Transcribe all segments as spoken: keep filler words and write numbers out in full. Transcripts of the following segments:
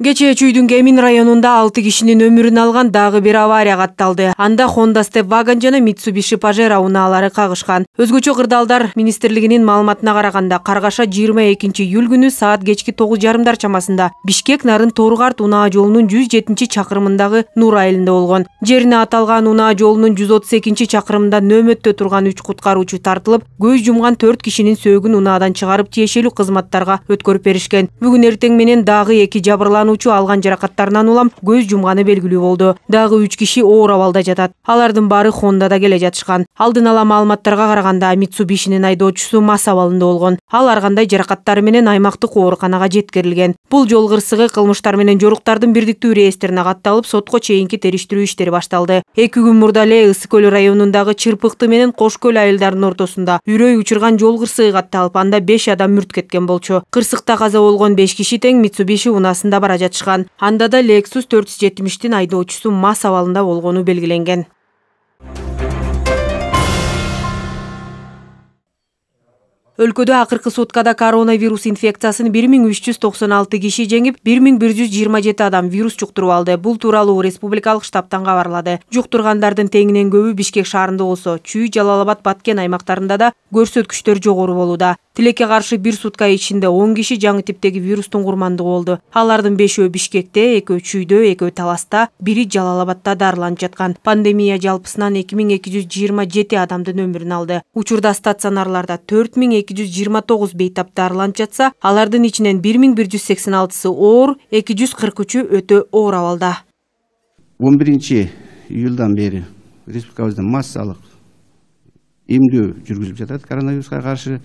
Кечээ Чүйдүн Кемин районунда алты кишинин өмүрүн алган дагы бир авария катталды. Анда Honda Step Wagon жана Mitsubishi Pajero унаалары кагышкан. Өзгөчө кырдаалдар министрлигинин маалыматына караганда, каргаша жыйырма экинчи июль күнү саат кечки тогуз жарымдар чамасында Бишкек Нарын Торгарт унаа жолунун жүз жетинчи чакырымындагы Нур айылында болгон. Жерине аталган унаа жолунун жүз отуз экинчи чакырымында нөөмөттө турган үч куткаруучу тартылып, көз жумган төрт кишинин сөөгүн унаадан чыгарып тиешелүү кызматтарга өткөрүп беришкен. Бүгүн эртең менен дагы эки жабырлануучу алган жаракаттарынан улам көз жумганы белгилүү болду. Дагы үч киши оор абалда жатат. Алардын баары Хондада келе жатышкан. Алдын ала маалыматтарга караганда, Митсубишинин айдоочусу мас абалында болгон. Ал ар кандай жаракаттары менен аймактык ооруканага жеткирилген. Бул жол кырсыгы кылмыштар менен жоруктардын бирдиктүү реестрине катталып, сотко чейинки териштирүү иштери башталды. Эки күн мурда эле Ысык көл районундагы Чырпыкты менен Кош көл айылдарынын ортосунда үрөй учурган жол кырсыгы катталып, анда беш адам мүрт кеткен болчу. Кырсыкта каза болгон беш киши тең Митсубиши унаасында бара жатышкан. Анда да Lexus төрт жүз жетимиштин айдоочусу мас абалында болгону белгиленген. Өлкөдө акыркы суткада коронавирус инфекциясын бир миң үч жүз токсон алты киши жеңип, бир миң бир жүз жыйырма жети адам вирус жуктуруп алды. Бул тууралуу республикалык штабтан кабарлады. Жуктургандардын теңинен көбү Бишкек шаарында болсо, Чүй, Жалал-Абад, Баткен аймактарында да көрсөткүчтөр жогору болууда. Тилекке каршы бир сутка ичинде он киши жаңы типтеги вирустун курмандыгы болду. Алардын бешөө Бишкекте, экөө Чүйдө, экөө Таласта, бири Жалал-Абадта дарыланып жаткан. Пандемия жалпысынан эки миң эки жүз жыйырма жети адамдын өмүрүн алды. Учурда стационарларда төрт миң эки жүз жыйырма тогуз бейтап дарыланып жатса, алардын ичинен бир миң бир жүз сексен алтысы оор, эки жүз кырк үчү өтө оор абалда. он биринчи июлдан бери республикабызда массалык эмдөө жүргүзүлүп жатат коронавируска каршы.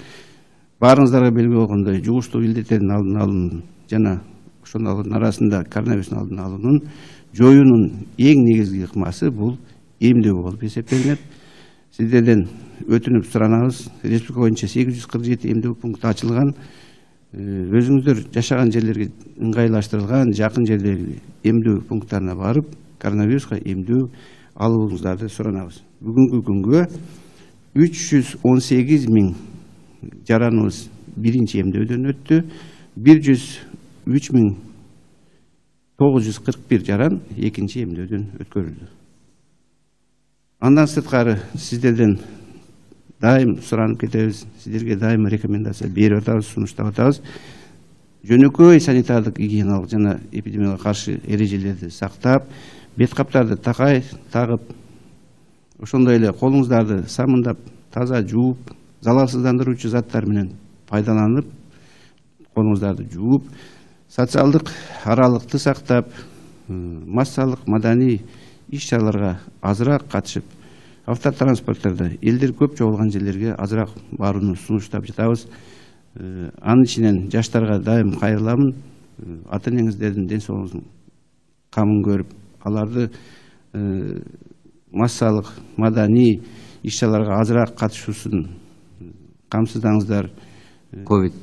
Баарыңыздарга белгилүү болгондой, жугуштуу илдеттердин алдын алуу жана ошонун арасында коронавирустун алдын алуунун жоюунун эң негизги ыкмасы бул эмдөө болуп эсептелинет. Сиздерден өтүнүп суранабыз, республика боюнча сегиз жүз кырк жети эмдөө пункту ачылган. Өзүңүздөр жашаган жерлерге ыңгайлаштырылган жакын жердеги эмдөө пункттарына барып, коронавируска эмдөө алууңуздарды суранабыз. Бүгүнкү күнгө үч жүз он сегиз миң жараныбыз биринчи эмдөөдөн өттү. бир жүз үч миң тогуз жүз кырк бир жаран экинчи эмдөөдөн өткөрүлдү. Андан сырткары сиздерден дайым суранып кетебиз, сиздерге дайым рекомендация берип атабыз, сунуштап атабыз. Жөнөкөй санитардык гигиеналык жана эпидемияга каршы эрежелерди сактап, бет каптарды такай тагып, ошондой эле колуңуздарды самындап, таза жууп, залалсыздандыруучу заттар менен пайдаланып, колуңуздарды жууп, социалдык аралыкты сактап, массалык маданий иш-чараларга азыраак катышып, автотранспорттордо элдер көп чогулган жерлерге азыраак барууну сунуштап жатабыз. Анын ичинен жаштарга дайым кайрыламын. Ата-энеңиздердин ден соолугунун камын көрүп, аларды массалык маданий иш-чараларга азыраак катышуусун камсыздаңыздар. Ковид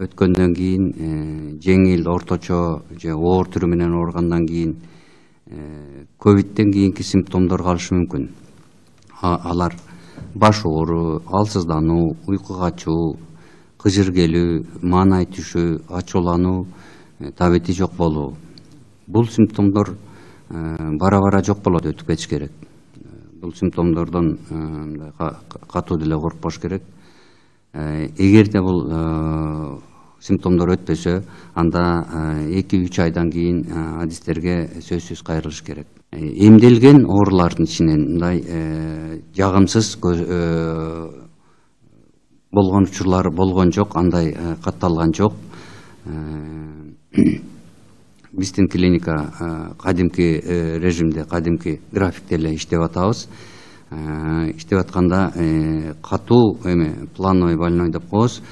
өткөндөн кийин жеңил, орточо же оор түрү менен ооругандан кийин ковидтен кийинки симптомдор калышы мүмкүн. Алар баш оору, алсыздануу, уйку качуу, кыжыр келүү, маанай түшүү, ачуулануу, табити жок болуу. Бул симптомдор бара-бара жок болот, өтүп кетиш керек. Бул симптомдордон катуу деле коркпош керек. Эгерде бул симптомдор өтпөсө, анда эки үч айдан кийин адистерге сөзсүз кайрылыш керек. Эмделген оорулардын ичинен мындай жагымсыз болгон учурлар болгон жок, андай катталган жок. Биздин клиника кадимки режимде, кадимки графикте эле иштеп атабыз. Иштеп атканда катуу эме плановый больной деп коебуз.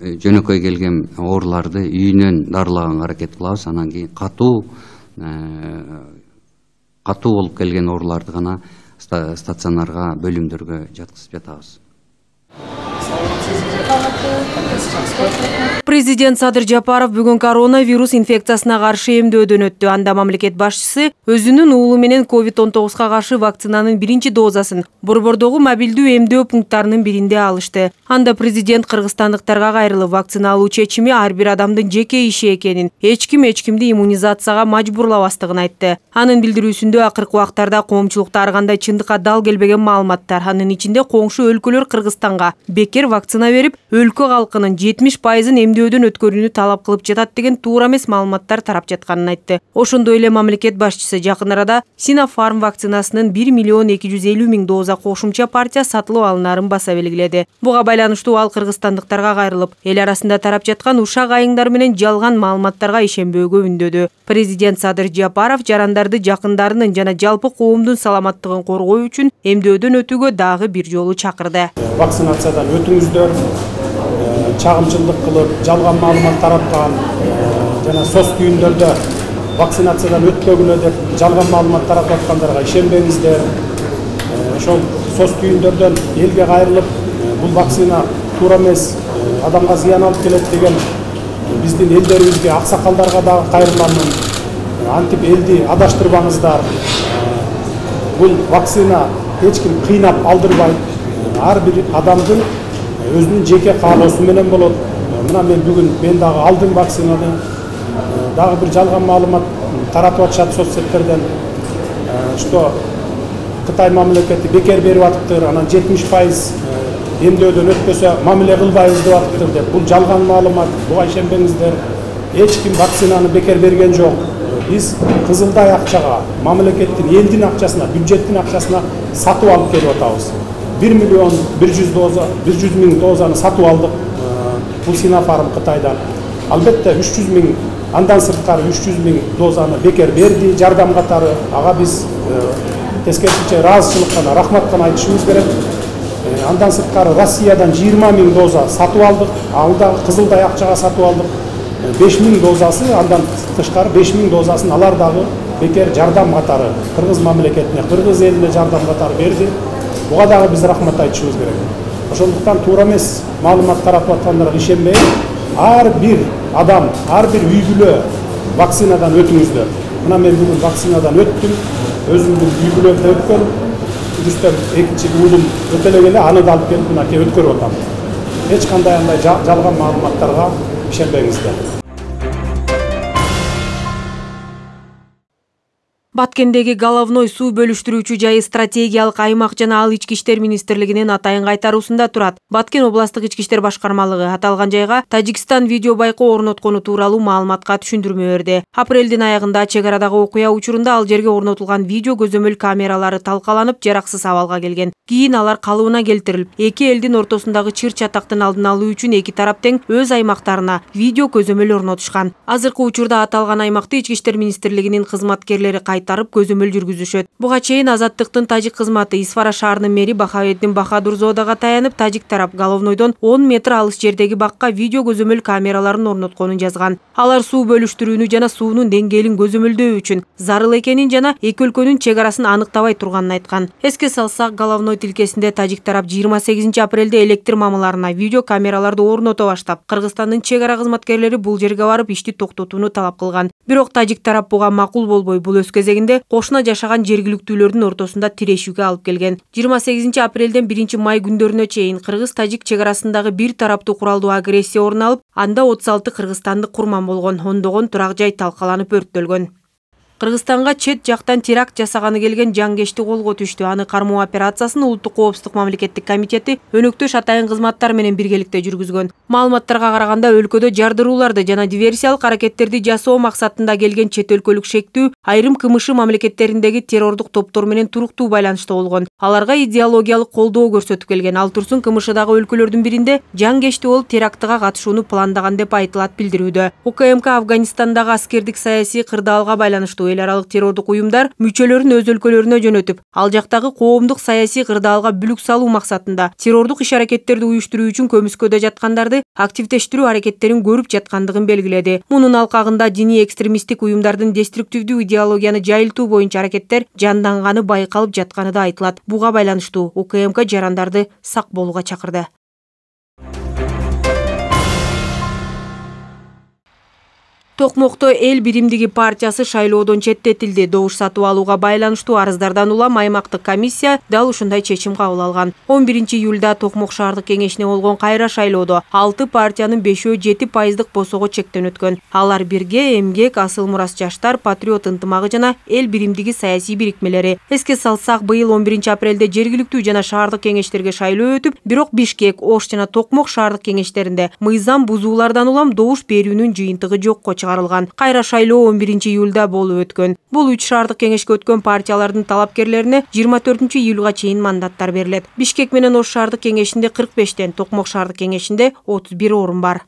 Жөнөкөй келген ооруларды үйүнөн дарылаганга аракет кылабыз. Анан кийин катуу катуу болуп келген ооруларды гана стационарга, бөлүмдөргө жаткызып жатабыз. Президент Садыр Жапаров бүгүн коронавирус инфекциясына каршы эмдөөдөн өттү. Анда мамлекет башчысы өзүнүн уулу менен ковид он тогузга каршы вакцинанын биринчи дозасын Борбордогу мобилдүү эмдөө пункттарынын биринде алышты. Анда президент кыргызстандыктарга кайрылып, вакцина алуу чечими ар бир адамдын жеке иши экенин, эч ким эч кимди иммунизацияга мажбурлабастыгын айтты. Анын билдирүүсүндө акыркы убактарда коомчулукта ар кандай чындыкка дал келбеген маалыматтар, анын ичинде коңшу өлкөлөр Кыргызстанга бекер вакцина берип, өлкө калкынын жетимиш пайызын эмдөөдөн өткөрүүнү талап кылып жатат деген туура эмес маалыматтар тарап жатканын айтты. Ошондой эле мамлекет башчысы жакын арада Синофарм вакцинасынын бир миллион эки жүз элүү миң доза кошумча партия сатылып алынаарын баса белгиледи. Буга байланыштуу ал кыргызстандыктарга кайрылып, эл арасында тарап жаткан ушак айыңдар менен жалган маалыматтарга ишенбөөгө үндөдү. Президент Садыр Жапаров жарандарды жакындарынын жана жалпы коомдун саламаттыгын коргоо үчүн эмдөөдөн өтүүгө дагы бир жолу чакырды. Вакцинациядан өтүңүздөр, чагымчылдык кылып, жалган маалымат тараткан жана соц түйүндөрдө вакцинациядан өтпөгүлө деп жалган маалымат таратып аткандарга ишенбеңиздер. Ошол соц түйүндөрдөн элге кайрылып, бул вакцина туура эмес, адамга зыян алып келет деген биздин элдерибизге, аксакалдарга дагы кайрылам. Антип элди адаштырбаңыздар. Бул вакцина эч ким кыйнап алдырбайт. Ар бир адамдын өзүнүн жеке каалоосу менен болот. Мына мен бүгүн мен дагы алдым вакцинаны. Дагы бир жалган маалымат таратып атышат соцсеттерден. Что Кытай мамлекети бекер берип атыптыр, анан жетимиш пайыз эмдөөдөн өтпөсө мамиле кылбайбыз деп атыптыр деп. Бул жалган маалымат, буга ишенбеңиздер. Эч ким вакцинаны бекер берген жок. Биз кызылдай акчага, мамлекеттин, элдин акчасына, бюджеттин акчасына сатып алып келип атабыз. бир миллион бир жүз доза, бир жүз миң дозаны сатып алдык. Бул Синофарм Кытайдан. Албетте үч жүз миң, андан сырткары үч жүз миң дозаны бекер берди жардам катары. Ага биз тескерисинче ыраазычылык гана, рахмат гана айтышыбыз керек. Андан сырткары Россиядан жыйырма миң доза сатып алдык. Ал дагы кызылдай акчага сатып алдык. беш миң дозасы, андан тышкары беш миң дозасын алар дагы бекер жардам катары Кыргыз мамлекетине, Кыргыз элине жардам катары берди. Буга дагы биз рахмат айтышыбыз керек. Ошондуктан туура эмес маалымат таратып аткандарга ишенбей, ар бир адам, ар бир үй бүлө вакцинадан өтүңүздөр. Мына мен бүгүн вакцинадан өттүм, өзүмдүн үй бүлөмдө өткөн, Рүстөм экинчи уулум өтөлөгө эле аны да алып келип мынакей өткөрүп атам. Эч кандай андай жалган маалыматтарга ишенбеңиздер. Баткендеги Головной суу бөлүштүрүүчү жайы стратегиялык аймак жана ал ички иштер министрлигинин атайын кайтаруусунда турат. Баткен областык ички иштер башкармалыгы аталган жайга Тажикстан видео байкоо орноткону тууралуу маалыматка түшүндүрмө берди. Апрелдин аягында чек арадагы окуя учурунда ал жерге орнотулган видео көзөмөл камералары талкаланып, жараксыз абалга келген. Кийин алар калыбына келтирилип, эки элдин ортосундагы чыр чатактын алдын алуу үчүн эки тарап тең өз аймактарына видео көзөмөл орнотушкан. Азыркы учурда аталган аймакты ички иштер министрлигинин кызматкерлери кайтарып көзөмөл жүргүзүшөт. Буга чейин Азаттыктын тажик кызматы Исфара шаарынын мэри Бахаветдин Бахадурзодага таянып, тажик тарап Головнойдон он метр алыс жердеги бакка видео көзөмөл камераларын орнотконун жазган. Алар суу бөлүштүрүүнү жана суунун деңгээлин көзөмөлдөө үчүн зарыл экенин жана эки өлкөнүн чек арасын аныктабай турганын айткан. Эске салсак, Головной тилкесинде тажик тарап жыйырма сегизинчи апрелде электр мамыларына видео камераларды орното баштап, Кыргызстандын чек ара кызматкерлери бул жерге барып ишти токтотууну талап кылган. Бирок тажик тарап буга макул болбой, бул өз кезегинде кошуна жашаган жергиликтүүлөрдүн ортосунда тирешүүгө алып келген. жыйырма сегизинчи апрелден биринчи май күндөрүнө чейин кыргыз-тажик чек арасындагы бир тараптуу куралдуу агрессия орун алып, анда отуз алты кыргызстандык курман болгон, ондогон турак жай талкаланып өрттөлгөн. Кыргызстанга чет жактан теракт жасаганы келген жангечти колго түштү. Аны кармоо операциясын Улуттук коопсуздук мамлекеттик комитети өнөктөш атайын кызматтар менен биргеликте жүргүзгөн. Маалыматтарга караганда, өлкөдө жардырууларды жана диверсиялык аракеттерди жасоо максатында келген чет өлкөлүк шектүү айрым КМШ мамлекеттериндеги террордук топтор менен туруктуу байланышта болгон. Аларга идеологиялык колдоо көрсөтүп келген. Ал турсун КМШдагы өлкөлөрдүн биринде жангечти болуп терактыга катышууну пландаган деп айтылат билдирүүдө. УКМК Афганистандагы аскердик саясий кырдаалга байланыштуу эл аралык террордук уюмдар мүчөлөрүн өз өлкөлөрүнө жөнөтүп, ал жактагы коомдук саясий кырдаалга бүлүк салуу максатында террордук иш-аракеттерди уюштуруу үчүн көмүскөдө жаткандарды активдештирүү аракеттерин көрүп жаткандыгын белгиледи. Мунун алкагында диний экстремисттик уюмдардын деструктивдүү идеологияны жайылтуу боюнча аракеттер жанданганы байкалып жатканы да айтылат. Буга байланыштуу УКМК жарандарды сак болууга чакырды. Токмокто эл биримдиги партиясы шайлоодон четтетилди. Добуш сатып алууга байланыштуу арыздардан улам аймактык комиссия дал ушундай чечим кабыл алган. он биринчи июлда Токмок шаардык кеңешине болгон кайра шайлоодо алты партиянын бешөө жети пайыздык босого чектен өткөн. Алар бирге эмгек, асыл мурас жаштар, патриот ынтымагы жана эл биримдиги саясий бирикмелери. Эске салсак, быйыл он биринчи апрелде жергиликтүү жана шаардык кеңештерге шайлоо өтүп, бирок Бишкек, Ош жана Токмок шаардык кеңештеринде мыйзам бузуулардан улам добуш берүүнүн жыйынтыгы жокко чыгарылган. Кайра шайлоо он биринчи июлда болуп өткөн. Бул үч шаардык кеңешке өткөн партиялардын талапкерлерине жыйырма төртүнчү июлга чейин мандаттар берилет. Бишкек менен Ош шаардык кеңешинде кырк бештен, Токмок шаардык кеңешинде отуз бир орун бар.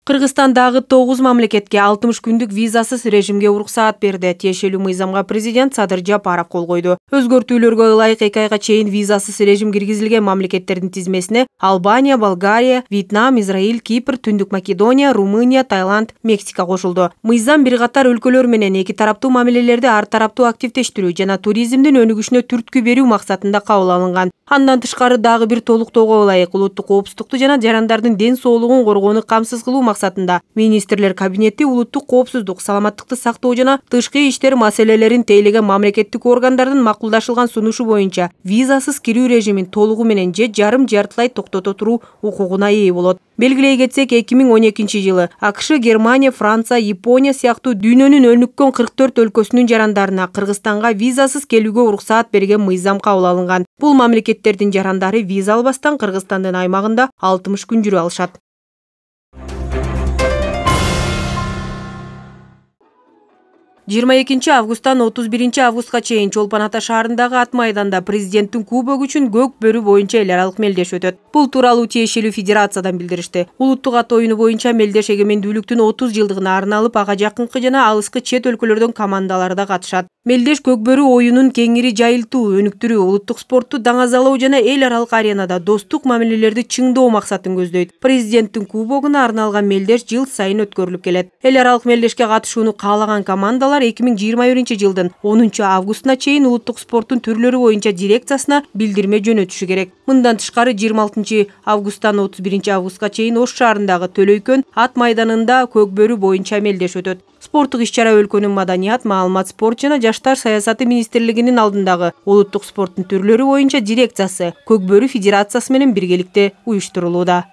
Кыргызстандагы тогуз мамлекетке алтымыш күндүк визасыз режимге уруксаат берди. Тиешелүү мыйзамга президент Садыр Жапаров кол койду. Өзгөртүүлөргө ылайык эки айга чейин визасыз режим киргизилген мамлекеттердин тизмесине Албания, Болгария, Вьетнам, Израиль, Кипр, Түндүк Македония, Румыния, Таиланд, Мексика кошулду. Мыйзам бир катар өлкөлөр менен эки тараптуу мамилелерди ар тараптуу активдештирүү жана туризмдин өнүгүшүнө түрткү берүү максатында кабыл алынган. Андан тышкары дагы бир толуктоого ылайык улуттук коопсуздукту жана жарандардын ден соолугун коргоону камсыз кылуу максатында министрлер кабинети улуттук коопсуздук, саламаттыкты сактоо жана тышкы иштер маселелерин тейлеген мамлекеттик органдардын макулдашылган сунушу боюнча визасыз кирүү режимин толугу менен же жарым жартылай токтото туруу укугуна ээ болот. Белгилей кетсек, эки миң он экинчи жылы АКШ, Германия, Франция, Япония сыяктуу дүйнөнүн өнүккөн кырк төрт өлкөсүнүн жарандарына Кыргызстанга визасыз келүүгө уруксаат берген мыйзам кабыл алынган. Бул мамлекеттердин жарандары виза албастан Кыргызстандын аймагында алтымыш күн жүрө алышат. жыйырма экинчи августтан отуз биринчи августка чейин Чолпон Ата шаарындагы ат майданда президенттин кубогу үчүн көк бөрү боюнча эл аралык мелдеш өтөт. Бул тууралуу тиешелүү федерациядан билдиришти. Улуттук ат оюну боюнча мелдеш эгемендүүлүктүн отуз жылдыгына арналып ага жакынкы жана алыскы чет өлкөлөрдөн командалар да катышат. Мелдеш көк бөрү оюнун кеңири жайылтуу, өнүктүрүү, улуттук спортту даңазалоо жана эл аралык аренада достук мамилелерди чыңдоо максатын көздөйт. Президенттин кубогуна арналган мелдеш жыл сайын өткөрүлүп келет. Эл аралык мелдешке катышууну каалаган командалар эки миң жыйырма биринчи жылдын онунчу августуна чейин улуттук спорттун түрлөрү боюнча дирекциясына билдирме жөнөтүшү керек. Мындан тышкары жыйырма алтынчы августтан отуз биринчи августка чейин Ош шаарындагы Төлөйкөн ат майданында көк бөрү боюнча мелдеш өтөт. Спорттук иш-чара өлкөнүн маданият, маалымат, спорт жана жаштар саясаты министрлигинин алдындагы улуттук спорттун түрлөрү боюнча дирекциясы Көк бөрү федерациясы менен биргеликте уюштурулууда.